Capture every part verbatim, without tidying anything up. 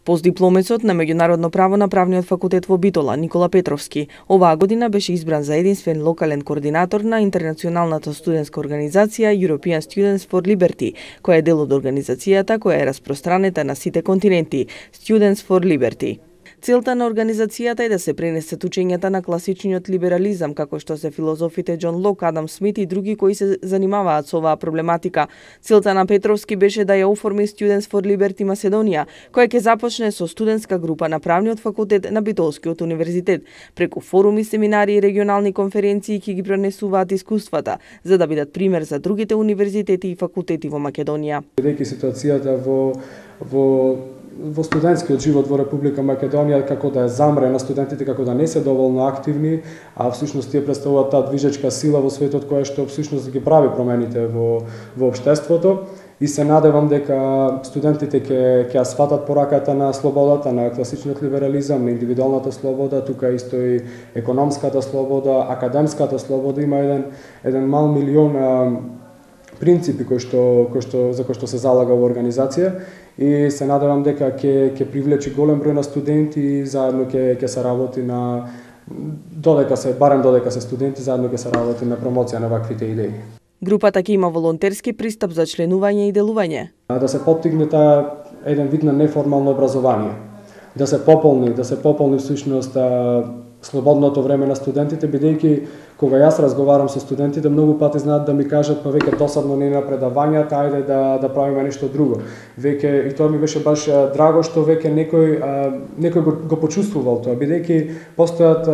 Постдипломецот на меѓународно право на правниот факултет во Битола, Никола Петровски, оваа година беше избран за единствен локален координатор на интернационалната студентска организација European Students for Liberty, која е дел од организацијата која е распространета на сите континенти, Students for Liberty. Целта на организацијата е да се пренесат учењата на класичниот либерализам, како што се филозофите Џон Лок, Адам Смит и други кои се занимаваат со оваа проблематика. Целта на Петровски беше да ја оформи Students for Liberty Македонија, која ќе започне со студентска група на правниот факултет на Битолскиот универзитет, преку форуми, семинари и регионални конференции ќе ги пренесуваат искуствата, за да бидат пример за другите универзитети и факултети во Македонија. Бидејќи ситуацијата во во во студентскиот живот во Република Македонија како да е замрена, студентите како да не се доволно активни, а всушност тие представуваат таа движечка сила во светот која што всушност ги прави промените во во општеството, и се надевам дека студентите ќе ќе сватат пораката на слободата, на класичниот либерализам, на индивидуалната слобода, тука исто и економската слобода, академската слобода. Има еден еден мал милион принципи кои што кои што за кои што се залага во организација, и се надевам дека ќе ќе привлечи голем број на студенти и заедно ќе ќе се работи на додека се барем додека се студенти заедно ќе се работи на промоција на ваквите идеи. Групата ќе има волонтерски пристап за членување и делување. Да се поттигне таа еден вид на неформално образование, да се пополни, да се пополни всушност слободното време на студентите, бидејќи кога јас разговарам со студентите, многу пати знаат да ми кажат па веќе досадно не на предавањата, ајде да да правиме нешто друго. Веќе и тоа ми беше баш драго што веќе некој некој го, го почувствувал тоа, бидејќи постојат,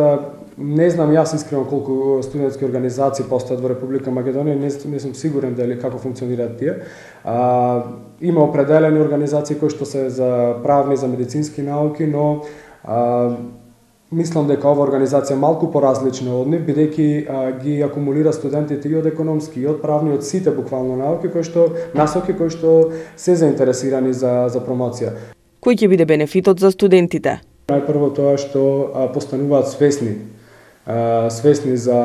не знам јас искрено колку студентски организации постојат во Република Македонија, не, не сум сигурен дали како функционираат тие. А, има определени организации кои што се за правни, за медицински науки, но а, мислам дека ова организација е малку поразлична од нив, бидејќи ги акумулира студентите и од економски, и од правни, од сите буквално науки кои што насоки кои што се заинтересирани за за промоција. Кој ќе биде бенефитот за студентите? Најпрво тоа што а, постануваат свесни, а, свесни за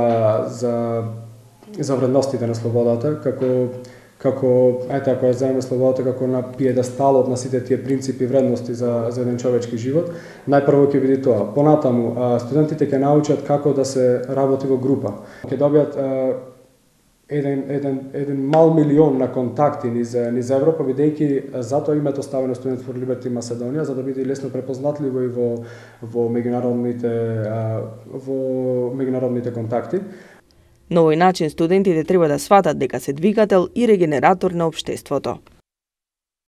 за за вредностите на слободата, како како ете ако ја земеме слободата како на пиедесталот на сите тие принципи и вредности за за еден човечки живот, најпрво ќе биде тоа. Понатаму студентите ќе научат како да се работи во група. Ќе добијат еден еден еден мал милион на контакти низ низ Европа, бидејќи затоа името ставено Students for Liberty Македонија, за да биде лесно препознатливо и во во меѓународните во меѓународните контакти. На овој начин студентите треба да сватат дека се двигател и регенератор на општеството.